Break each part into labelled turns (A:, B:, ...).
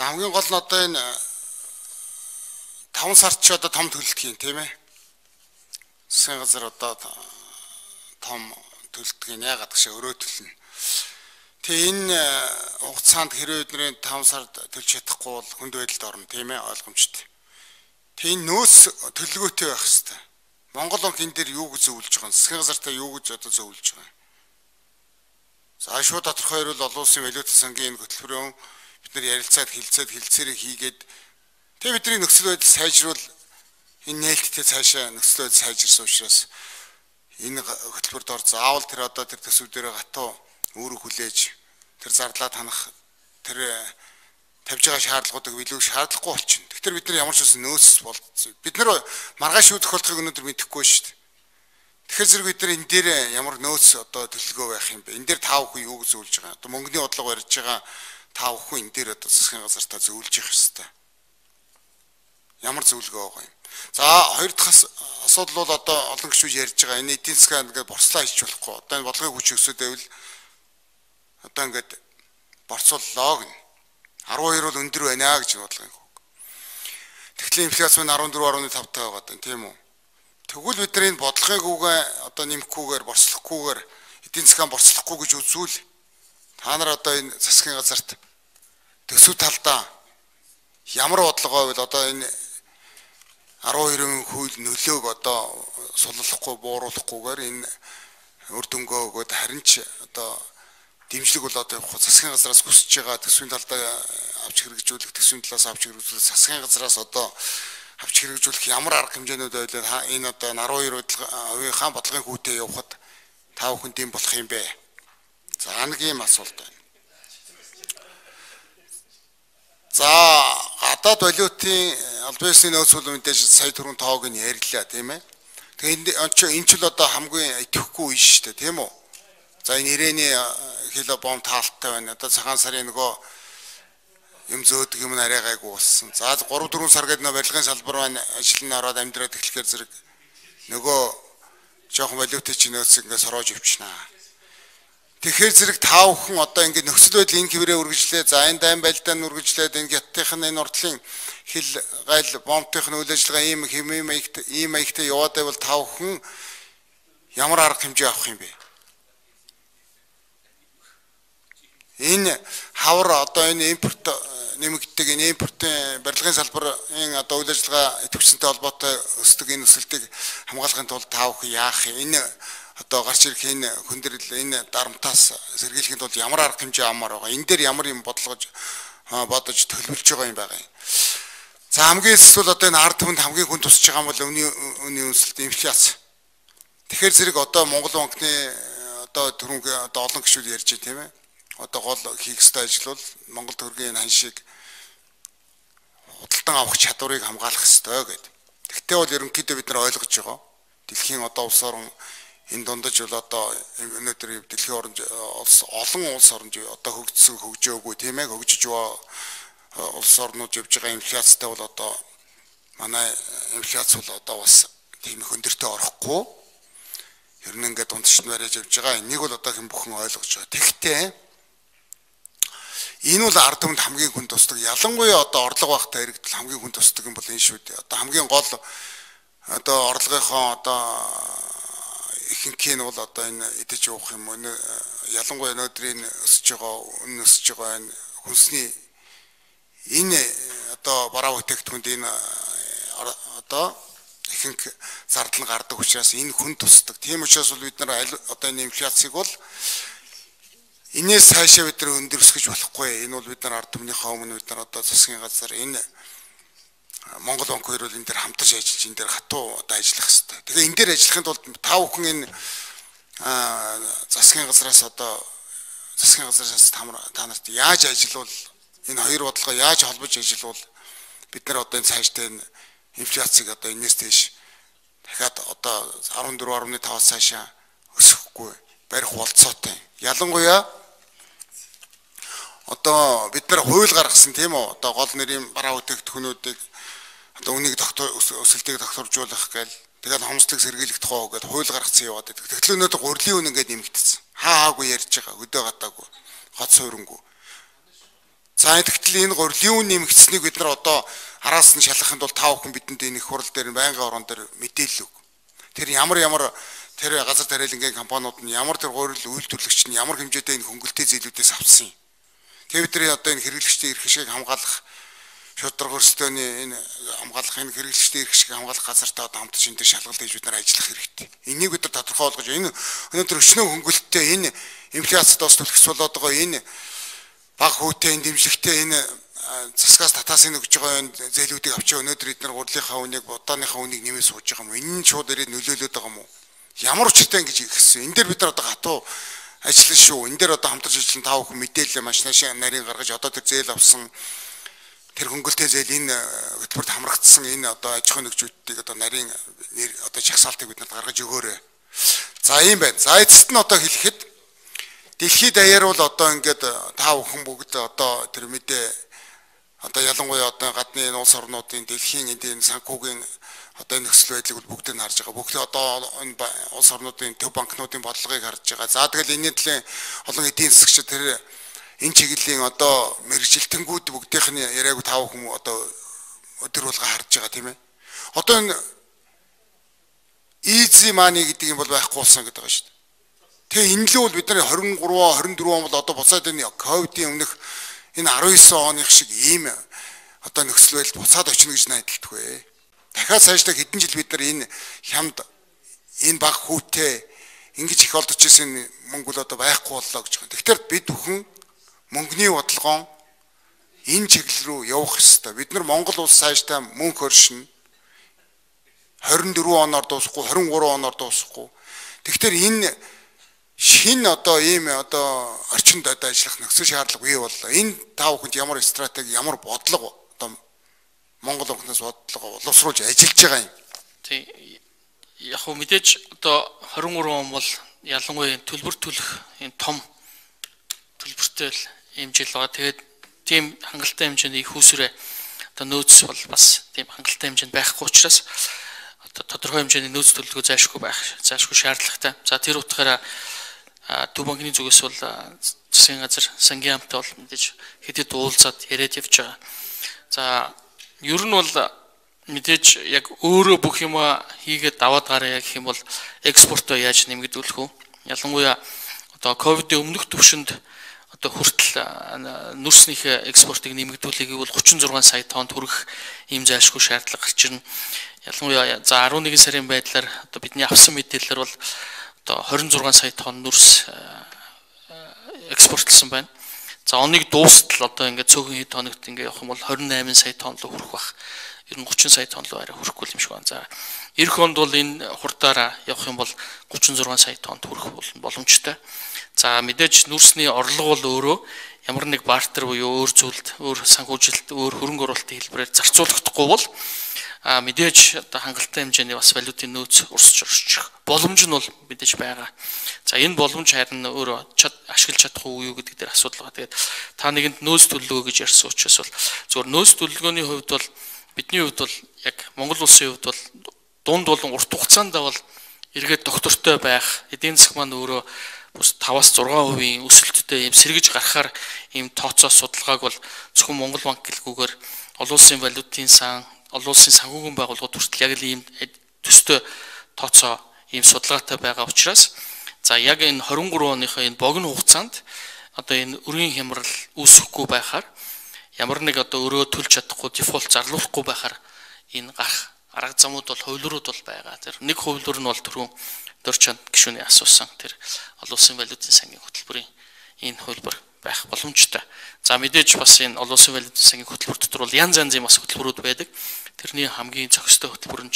A: За хамгийн гол нь одоо энэ 5 сард ч одоо том төлөлтгийн тийм ээ. Засгийн газар одоо том төлөлтгийн яагаад гэж өрөө төлнө. Тэгээ энэ хугацаанд хэрвээ бидний 5 сард төлж чадахгүй бол хүнд байдалд орно тийм ээ, ойлгомжтой. Тэгээ энэ нөөц төлөвлөгөөтэй байх хэрэгтэй. Монгол банк энэ дээр юу гэж зөвлөж байгаа юм? Засгийн газартаа юу гэж одоо зөвлөж байгаа юм? За шууд тодорхой хэрүүл олон улсын валютын сангийн энэ хөтөлбөрөөр бид нар ярилцаад хилцээрийг хийгээд тэгээ бидний нөхцөл байдал сайжруул энэ нээлттэй цаашаа нөхцөл байдал сайжирсан учраас энэ хөтөлбөрт ор заавал тэр одоо тэр төсөв дээр гатуу өөрөг хүлээж тэр зарлаа танах тэр тавьж байгаа шаардлагуудыг билүү шаардлагагүй болчихно. Тэгэхээр бид нар ямар ч үсэн нөөц болцсон. Бид нар маргааш юу тохиолдохыг өнөөдөр мэдэхгүй шүү дээ. Тэгэхээр зэрэг бид нар энэ дээр ямар нөөц одоо төлөвлөгөө байх юм бэ? Энэ дээр таавахгүй юу гэж зөвлөж байгаа. Одоо мөнгөний бодлого барьж байгаа таавахгүй энэ дээр одоо засгийн газартаа зөвлөж явах хэрэгтэй. Ямар зөвлөгөө байгаа юм? За хоёр дахь асуудал бол одоо олон гишүүд ярьж байгаа. Энэ эдийн засаг ингээд борцлоо хийж болохгүй. Одоо энэ бодлогыг хүч өсөдөйвэл одоо ингээд борцоллоо гэнэ. 12 бол өндөр байна гэж бодлого юм. Тэгэхээр инфляц нь 14.5 таа байгаа тийм үү? Тэгвэл бид нар энэ бодлогыг одоо нэмэхгүйгээр борцлохгүйгээр эдийн засгаа борцлохгүй гэж үзвэл та нар одоо энэ засгийн газарт төсөв талдаа ямар бодлогоо бол одоо энэ 12% хууль нөлөөг одоо суллахгүй бууруулахгүйгээр энэ үр дүнгээ өгөөд харин ч одоо дэмжлэг бол одоо засгийн газраас хүсэж байгаа төсвийн талдаа авч хэрэгжүүлэх төсвийн талаас авч хэрэгжүүлэх засгийн газраас одоо авч хэрэгжүүлэх ямар арга хэмжээнүүд байлаа энэ одоо 12%-ийн бодлогын хүүтэй явахад та бүхэнд юм болох юм бэ? За нэг юм асуулт байна. За гадаад валютын албан ёсны нөөц бол мэдээж сая түрүүн тоог нь ярьлаа тийм ээ. Тэгээ энэ ч л одоо хамгийн итгэхгүй үе шүү дээ тийм үү? За энэ ирээний кило бом таалттай байна. Одоо цагаан сарын нөгөө юм зөөдөг юм арай гайгүй болсон. За 3-4 сар гэдэг нөө барилгын салбар маань ажил нь ороод амьдраад эхлэхээр зэрэг нөгөө жоохон валютын чинь нөөцийг ингээд сороож өвчнаа. Тэгэхээр зэрэг та бүхэн одоо ингээд нөхцөл байдал энэ хэврээ үргэлжлээ. За энэ дайм байлдаанд үргэлжлээд энэ гяттын энэ уртлын хил гайл бомтын үйл ажиллагаа ийм маягтай яваад байвал та бүхэн ямар арга хэмжээ авах юм бэ? Энэ хавар одоо энэ импорт нэмэгддэг энэ импортын барилгын салбарын одоо үйл ажиллагаа идэвхжсэнтэй холбоотой өсдөг энэ өсөлтийг хамгаалахын тулд та бүхэн яах энэ одоо гарч ирэх энэ хүндрэл энэ дарамтаас сэргийлэхийн тулд ямар арга хэмжээ авмаар байгаа. Энэ дээр ямар юм бодож төлөвлөж байгаа юм байгаа юм. За хамгийн эсвэл одоо энэ ард түмэнд хамгийн хүн тусаж байгаа юм бол үнийн өсөлт инфляц. Тэгэхээр зэрэг одоо Монгол банкны одоо түрүүн одоо олон гишүүд ярьж байна тийм ээ. Одоо гол хийх ёстой ажил бол Монгол төгрөгийн ханшийг худалдан авах чадварыг хамгаалах ёстой гэдэг. Тэгтээ бол ерөнхийдөө бид нар ойлгож байгаа. Дэлхийн одоо улс орн энэ дундаж бол одоо өнөөдөр дэлхийн олон улс орнд одоо хөгжсөн хөгжөөгүй тийм ээ хөгжиж байгаа улс орнууд явж байгаа инфляцтай бол одоо манай инфляц бол одоо бас тийм их өндөртөө орохгүй. Ер нь ингээд дундчд барьж явж байгаа. Энийг бол одоо хэн бүхэн ойлгож байгаа. Тэгтээ энэ бол ард түмэнд хамгийн хүн тусдаг. Ялангуяа одоо орлого багтай иргэдэл хамгийн хүн тусдаг юм бол энэ шүү дээ. Одоо хамгийн гол одоо орлогынхоо одоо ихэнх нь бол одоо энэ идэж явах юм. Ялангуяа өнөөдрийн өсөж байгаа энэ хүнсний энэ одоо бараа бүтээгдэхүүнд энэ одоо ихэнх зардал гардаг учраас энэ хүн тусдаг. Тийм учраас бол бид нар одоо энэ инфляцийг бол энээс цаашаа бид нар өндөрсгөж болохгүй. Энэ бол бид нар ард түмнийхээ өмнө бид нар одоо засгийн газар энэ Монгол банк хоёр бол энэ дээр хамтарч ажиллаж энэ дээр хатуу одоо ажиллах хэрэгтэй. Тэгэхээр энэ дээр ажиллахын тулд та бүхэн энэ засгийн газраас та нарт яаж ажиллавал энэ хоёр бодлогоо яаж холбож ажиллавал бид нар одоо энэ цаашдаа энэ инфляцийг одоо энэс тийш дахиад одоо 14.5-аас цаашаа өсөхгүй барих болцоотой. Ялангуяа одоо бид нар хууль гаргасан тийм үү? Одоо гол нэрийн бараа бүтээгдэхүүнүүдийг одоо үнийг өсөлтийг тогтворжуулах гээл тэгээд хомсдлыг сэргийлэх тухай гэдэг хууль гаргацсан яваад байдаг. Тэгтэл өнөөдөр гурлийн үн ингээд нэмэгдсэн. Хаагүй ярьж байгаа, өдөө гадаагүй, хот суурингүй. За тэгтэл энэ гурилын үн нэмэгдсэнийг бид нар одоо араас нь шалгахын тулд тав хүн бидэнд энэ их хурал дээр байнгын орон дээр мэдээлэл өг. Тэр ямар тэр газар тариалангийн компаниуд нь ямар тэр гурил үйлдвэрлэгч нь ямар хэмжээтэй энэ хөнгөлтэй зээлүүдээс авсан юм. Тэгээ бидний одоо энэ хэрэглэгчдийн эрх ашиг хамгаалах шударга өрсөлдөөний энэ хамгаалах энэ хэрэглэгчдийн эрх ашиг хамгаалах газартай одоо хамтарч энэ дээр шалгалт хийж бид нар ажиллах хэрэгтэй. Энийг бид нар тодорхой болгож энэ өнөөдөр өчнөө хөнгөлттэй энэ инфляцид бас түлхэс болоод байгаа энэ баг хүүтэй энэ дэмжлэгтэй энэ засгаас татаас энэ өгж байгаа зээлүүдийг авчаа өнөөдөр бид нар гурилынхаа үнийг удааныхаа үнийг нэмээ сууж байгаа юм. Энэ нь шууд ирээд нөлөөлөд байгаа юм уу? Ямар учиртай ингэж ихсэн. Энэ дээр бид нар одоо хатуу ажиллана шүү. Энэ дээр одоо хамтарч ажиллан тав хүн мэдээлэл маш нарийн гаргаж одоо тэр зээл авсан тэр хөнгөлтэй зээл энэ хөтөлбөрт хамрагдсан энэ одоо аж ахуйн нэгжүүдийг одоо нарийн одоо жагсаалтыг бид нарт гаргаж өгөөрэй. За ийм байна. За эцэст нь одоо хэлэхэд дэлхийд даяар бол одоо ингээд тав хүн бүгд одоо тэр мэдээ одоо ялангуяа одоо гадны улс орнуудын дэлхийн эдийн санхүүгийн одоо энэ нөхцөл байдлыг бол бүгдийг нь харж байгаа. Бүгд одоо энэ улс орнуудын төв банкнуудын бодлогыг харж байгаа. За тэгэл энэ төлөө олон эдийн засагчид тэр энэ чиглэлийн одоо мэрэгжилтэнгүүд бүгдийнх нь яриаг тав хүмүүс одоо өдөр болго харж байгаа тийм ээ. Одоо энэ easy money гэдэг юм бол байхгүй болсон гэдэг байгаа шүү дээ. Тэгээ энэ л бол бид нар 23 24 он бол одоо буцаад энэ ковидын өмнөх энэ 19 оных шиг ийм одоо нөхцөл байдал буцаад очно гэж найдалдаг вэ. Дахиад цаашдаа хэдэн жил бид нар энэ хямд энэ баг хүүтэй ингэж их олдож ирсэн мөнгө бол одоо байхгүй боллоо гэж байна. Тэгэхээр бид бүхэн мөнгөний бодлогоо энэ чиглэл рүү явах ёстой. Бид нар Монгол улс цаашдаа мөнгө хөршин 24 оноор дуусахгүй 23 оноор дуусахгүй. Тэгэхээр энэ шинэ одоо ийм одоо орчинд одоо ажиллах нөхцөл шаардлага бий боллоо. Энэ тав хүнд ямар стратеги, ямар бодлого одоо Монгол өнгөнөөс бодлого боловсруулж ажиллаж байгаа юм.
B: Тий. Яг хөө мэдээж одоо 23 он бол ялангуяа төлбөр төлөх энэ том төлбөртэй л ийм жил байгаа. Тэгээд тийм хангалттай хэмжээний их усрээ одоо нөөц бол бас тийм хангалттай хэмжээнд байхгүй учраас одоо тодорхой хэмжээний нөөц төлөлгөө зайлшгүй шаардлагатай. За тэр утгаараа төв банкны зүгээс бол засгийн газар сангийн хамтаа бол мэдээж хэдэд уулзаад яриад явж байгаа. За ер нь бол мэдээж яг өөрөө бүх юм хийгээд даваад гараа гэх юм бол экспортоо яаж нэмэгдүүлэх вэ? Ялангуяа одоо ковидын өмнөх түвшинд одоо хүртэл нүрснийхээ экспортыг нэмэгдүүлэхийг бол 36 сая тонн хүрэх ийм зайлшгүй шаардлага гарч ирнэ. Ялангуяа за 11 сарын байдлаар одоо бидний авсан мэдээлэлээр бол одоо 26 сая тонн нүрс экспортлсон байна. За оныг дуустал одоо ингээд цөөхөн хэд хоногт ингээд явах юм бол 28 сая тонн руу хүрэх бах. Ер нь 30 сая тонн руу арай хүрэхгүй юм шиг байна. За эх онд бол энэ хурдаараа явах юм бол 36 сая тонн хүрэх боломжтой. За мэдээж нүрсний орлого бол өөрөө ямар нэг бартер буюу өөр зүйлд, өөр санхүүжилт, өөр хөрөнгө оруулалтын хэлбэрээр зарцуулагдахгүй бол мэдээж одоо хангалттай хэмжээний бас валютын нөөц урсчих боломж нь бол мэдээж байгаа. За энэ боломж харин өөрөө ашиглаж чадах уу юу гэдэг дээр асуудал байгаа. Тэгээд та нэгэнд нөөц төлөлгөө гэж ярьсан учраас бол зөвхөн нөөц төлөлгөөний хувьд бол бидний хувьд бол яг Монгол улсын хувьд бол дунд болон урт хугацаанд бол эргээд доктортой байх, эдийн засаг маань өөрөө бус 5-аас 6% өсөлттэй юм сэргэж гарахаар ийм тооцоо судалгааг бол зөвхөн Монгол банк гэлгүйгээр олон улсын валютын сан, олон улсын санхүүгийн байгууллагууд хүртэл яг л ийм төстэй тооцоо ийм судалгаатай байгаа учраас за яг энэ 23 оныхоо энэ богино хугацаанд одоо энэ өрийн хямрал үүсэхгүй байхаар ямар нэг одоо өрөө төлж чадахгүй дефолт зарлуулахгүй байхаар энэ гарах арга замууд бол хувилбарууд бол байгаа. Тэр нэг хувилбар нь бол түрүүн Дорчанд гишүүний асуусан тэр олон улсын валютын сангийн хөтөлбөрийн энэ хувилбар байх боломжтой. За мэдээж бас энэ олон улсын валютын сангийн хөтөлбөр дотор бол янз янзын бас хөтөлбөрүүд байдаг. Тэрний хамгийн зохистой хөтөлбөр нь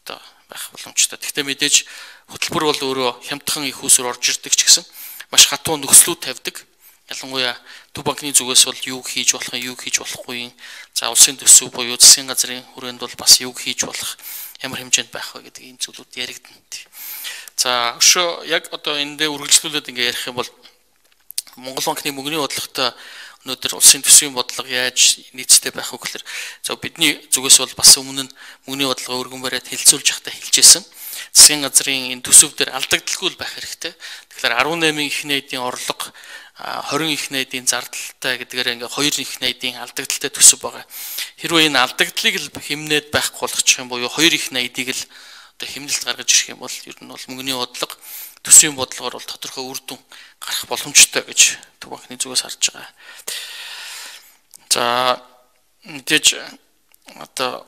B: одоо байх боломжтой. Гэхдээ мэдээж хөтөлбөр бол өөрөө хямдхан их усөр орж ирдэг ч гэсэн маш хатуу нөхцлүүд тавьдаг. Ялангуяа төв банкны зүгээс бол юу хийж болох юм, юу хийж болохгүй юм. За улсын төсөв буюу засгийн газрын хүрээнд бол бас юу хийж болох, ямар хэмжээнд байх вэ гэдэг ийм зүйлүүд яригдана. За өшөө яг одоо энэ дээр үргэлжлүүлээд ингээ ярих юм бол Монгол банкны мөнгөний бодлоготой өнөөдөр улсын төсвийн бодлого яаж нийцтэй байх вэ гэхээр за бидний зүгээс бол бас өмнө нь мөнгөний бодлого өргөн бариад хэлцүүлж явахдаа хэлжсэн. Засгийн газрын энэ төсөв дээр алдагдaltaгүй байх хэрэгтэй. Тэгэхээр 18-ийн эхний эдийн орлого 20 их найдын зардалтай гэдгээр ингээ 2 их найдын алдагдaltaй төсөв байгаа. Хэрвээ энэ алдагдлыг л хэмнээд байхгүй болгочих юм буюу 2 их найдыг л одоо хэмнэлт гаргаж ирэх юм бол ер нь бол мөнгөний бодлого төсвийн бодлогоор бол тодорхой үр дүн гарах боломжтой гэж Төв банкны зүгээс харж байгаа. За мэдээж одоо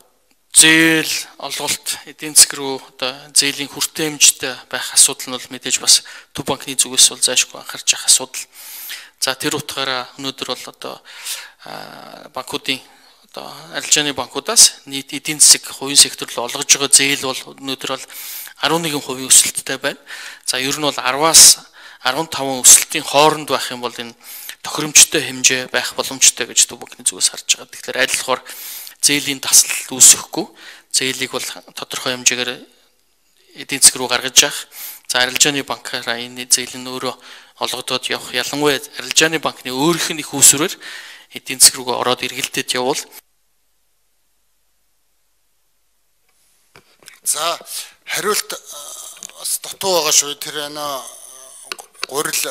B: зээл олголт эдийн засаг руу одоо зээлийн хүртээмжтэй байх асуудал нь бол мэдээж бас Төв банкны зүгээс бол зайлшгүй анхаарч явах асуудал. За тэр утгаараа өнөөдөр бол одоо банкуудын одоо арилжааны банкудаас нийт эдийн засаг хувийн сектор руу олгож байгаа зээл бол өнөөдөр бол 11% өсөлттэй байна. За ер нь бол 10-аас 15 өсөлтийн хооронд байх юм бол энэ тохиромжтой хэмжээ байх боломжтой гэж Төв банкны зүгээс харж байгаа. Тэгэхээр аль болохоор зээлийн таслалт үүсэхгүй, зээлийг бол тодорхой хэмжээгээр эдийн засаг руу гаргаж явах. За арилжааны банкаараа энэ зээл нь өөрөө олгодод явах. Ялангуяа арилжааны банкны өөрийнх нь их үүсвэрээр эдийн засаг руу ороод эргэлдэж явбал.
A: За хариулт бас дутуу байгаа шүү. Тэр гурил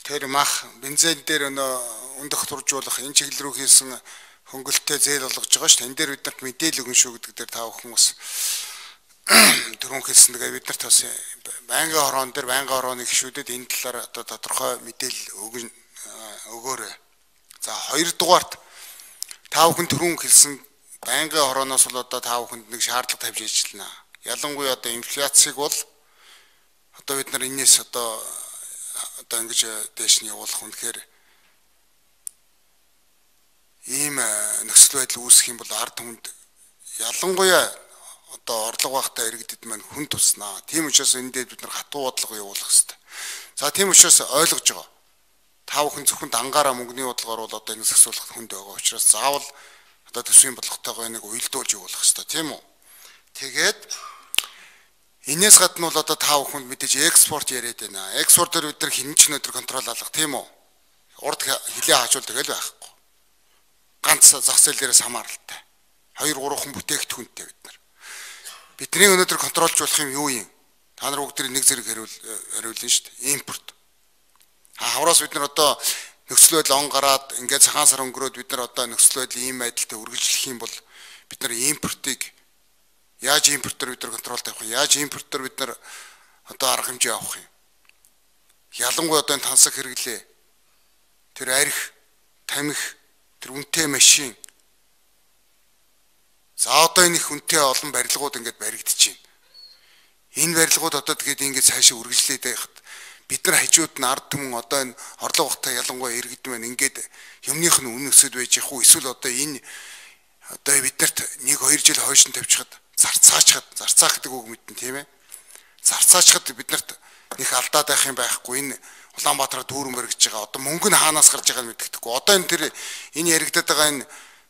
A: тэр мах бензин дээр өндөх туржуулах энэ чиглэл рүү хийсэн хөнгөлөлтөд зээл олгож байгаа шүү. Энэ дээр бид нарт мэдээлэл өгнө шүү гэдэг дээр та бүхэн бас дөрөв хэлсэн. Тэгээ бид нарт бас байнгын хорон дээр байнгын хорооны гишүүдэд энэ талаар одоо тодорхой мэдээлэл өгөөрэй. За хоёрдугаарт та бүхэн түрүүн хэлсэн байнгын хорооноос бол одоо та бүхэнд нэг шаардлага тавьж ажиллана. Ялангуяа одоо инфляцийг бол одоо бид нар энэс одоо ингэж дээш нь явуулах үнэхээр ийм нөхцөл байдал үүсэх юм бол ард түмэнд ялангуяа одоо орлого багтаа иргэдэд маань хүн туснаа. Тийм учраас энэ дээр бид нар хатуу бодлого явуулах хэрэгтэй. За тийм учраас ойлгож байгаа. Та бүхэн зөвхөн дангаараа мөнгөний бодлогоор бол одоо энэ засварлахад хүнд байгаа учраас заавал одоо төсвийн бодлоготойгоо энийг уялдуулж явуулах хэрэгтэй, тийм үү? Тэгээд энэс гадна бол одоо та бүхэнд мэдээж экспорт яриад байна. Экспортоор бид нар хинэн ч өнөдөр контрол алгах, тийм үү? Урд хилээ хаажуул тэгэл байхгүй. Ганц зах зээл дээрээс хамааралтай. 2-3хан бүтээгдэхүүнтэй бид нар. Бидний өнөөдөр контролж болох юм юу юм? Та нар бүгд нэг зэрэг хариулна шүү дээ. Импорт. Хавраас бид нар одоо нөхцөл байдал он гараад ингээд цагаан сар өнгөрөөд бид нар одоо нөхцөл байдал ийм байдалтай үргэлжлэх юм бол бид нар импортыг яаж импортоор бид нар контрол тавих вэ? Яаж импортоор бид нар одоо арга хэмжээ авах юм? Ялангуяа одоо энэ тансаг хэрэглээ. Тэр арх, тамхи, тэр үнэтэй машин. За одоо энэ их үнэтэй олон барилгууд ингээд баригдаж байна. Энэ барилгууд одоо тэгээд ингээд цаашаа үргэлжлээд байхад бид нар хажууд нь ард түмэн одоо энэ орлого багтаа ялангуяа иргэд маань ингээд юмных нь үнэ өсөд байж их үү? Эсвэл одоо энэ одоо биднэрт 1-2 жил хойш нь тавьчихад зарцаах гэдэг үг мэднэ, тийм ээ. Зарцаачхад биднэрт их алдаад байх юм байхгүй. Энэ Улаанбаатараа дүүрэн баригдаж байгаа. Одоо мөнгө нь хаанаас гарч байгааг мэддэхгүй. Одоо энэ тэр энэ яригдаад байгаа энэ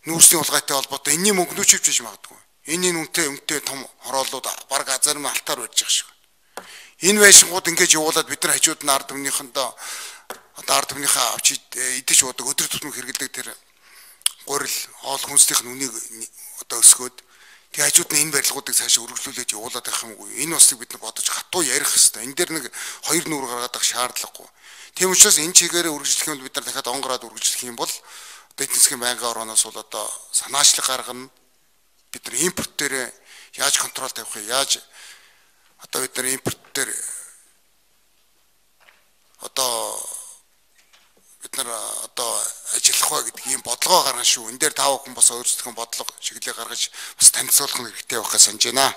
A: нүүрсний улгайтай холбоотой энэний мөнгө нүүчвч хийж магадгүй. Энэ үнэтэй том хороолууд баг зарим алтаар барьж байгаа шиг. Энэ байшингууд ингэж явуулаад бид нар хажууд нь ард түмнийхэндээ одоо ард түмнийхээ авч идэж уудаг өдөр тутмын хэрэглэдэг тэр гурил хоол хүнсдийнх нь үнийг одоо өсгөөд тэг хажууд нь энэ барилгуудыг цаашаа үргэлжлүүлээд явуулаад байх юмгүй. Энэ усыг бид нар бодож хатуу ярих хэрэгтэй. Энэ дээр нэг хоёр нүур гаргаад ах шаардлагагүй. Тийм учраас энэ чигээрээ үргэлжлэх юм бол бид нар дахиад он гараад үргэлжлэх юм бол одоо эдийн засгийн байнгын орооноос бол одоо санаачлаг гаргана. Бид нар импорт дээр яаж контрол тавих вэ? Яаж одоо бид нар импорт дээр одоо бид нар одоо ажиллах ба гэдэг ийм бодлого гаргана шүү. Энэ дээр тав хүн бас өөрсдөө бодлого чиглэлээ гаргаж бас танилцуулах хэрэгтэй байхаа санаж байна.